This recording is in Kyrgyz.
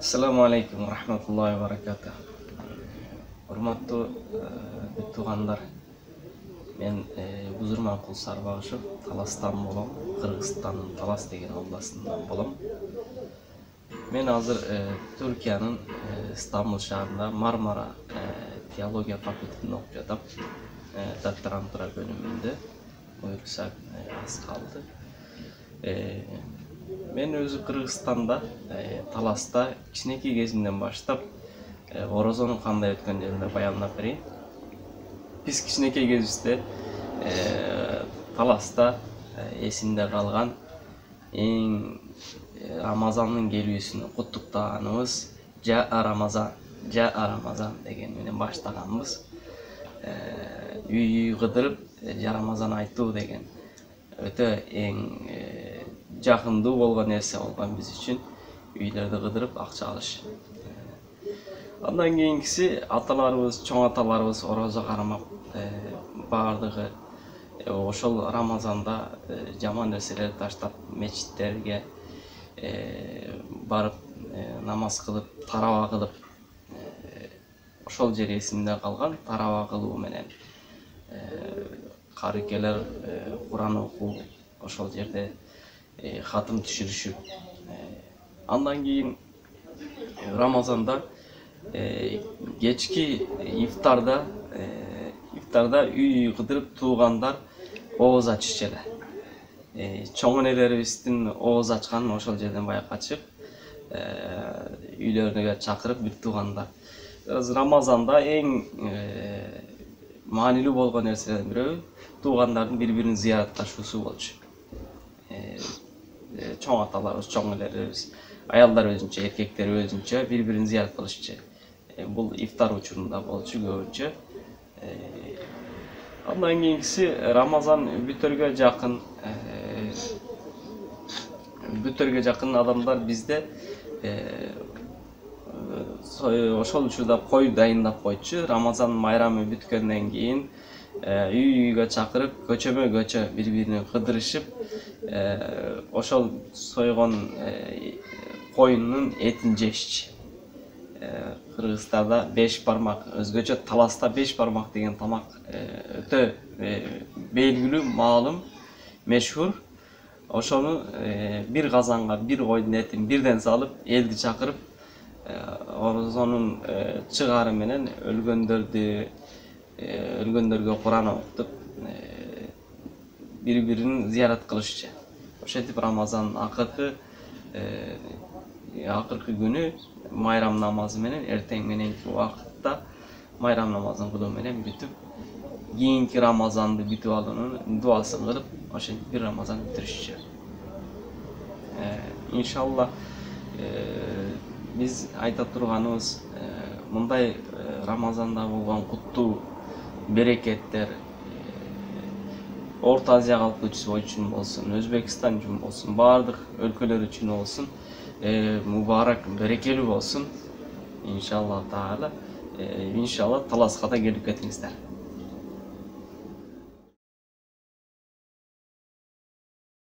Assalamu alaikum wa rahmatullahi wa barakatuh. Урматтуу бүт туугандар. Мен Бузурманкул Сарбагышев, Таластан болом, Кыргызстандын Талас деген областынан болом. Мен азыр Түркиянын Стамбул шаарында Мармара теология факультетинде окуп жатам. Докторантура бөлүмүндө. Буюрса аз калды. Мен өзү Кыргызстанда, Таласта кичинекей кезимден баштап орозонун кандай өткөн жөнүндө баяндап берейин. Биз кичинекей кезибизде Таласта эсимде калган эң Рамазандын келүүсүн куттуктаганыбыз Рамазан деген менен баштаганбыз. Үй кыдырып Рамазан айтуу деген өтө эң жакындуу болгон нерсе болгон биз үчүн. Үйлөрдү кыдырып акча алыш. Андан кийинкиси аталарыбыз, чоң аталарыбыз орозо кармап, баардыгы ошол Рамазанда жаман нерселерди таштап, мечиттерге барып намаз кылып, тараба кылып, ошол жер эсимде калган. Тараба кылуу менен карыкелер Куран окуу, ошол жерде хатым түшүрүшүп. Андан кийин Рамазанда кечки ифтарда үй кыдырып туугандар ооз ачышчу эле. Чоң энелерибиздин ооз ачканын ошол жерден байкачып, үйлөрүнө чакырып бүт туугандар. Рамазанда эң маанилүү болгон нерселердин бирөө туугандардын бири-бирин зыяратташуусу болчу. Чоң аталарыбыз, чоң энелерибиз, аялдар өзүнчө, эркектер өзүнчө бири-бирин зыярат кылышчу. Бул ифтар учурунда болчу көбүнчө. Андан кийинкиси Рамазан бүтөргө жакын адамдар бизде ошол учурда кой дайындап койчу. Рамазан майрамы бүткөндөн кийин үй-үйгө чакырып, көчөмө-көчө бири-бирине кыдырышып, ошол сойгон коюндун этин жешчи. Кыргызстанда 5 бармак, өзгөчө Таласта 5 бармак деген тамак өтө белгилүү, маалым, мешхур. Ошону бир казанга бир койдун этин бирден салып, элди чакырып, орозонун чыгары менен өлгөндөргө Куран окутуп, бири-бирин зыярат кылышчу. Ошентип Рамазандын акыркы күнү майрам намазы менен, эртең мененки убакытта майрам намазын кылуу менен бүтүп, кийинки Рамазанды бүтүп алуунун дуасын кылып, ошентип бир Рамазан бүтүрүшчү. Иншалла биз айта турганыбыз, мындай Рамазанда болгон куттуу берекеттер Орто Азия калкы үчүн болсун, Өзбекстан үчүн болсун, баардык өлкөлөр үчүн болсун, мубарак, берекелүү болсун. Иншалла таала. Иншалла Таласка да келип кетиңиздер.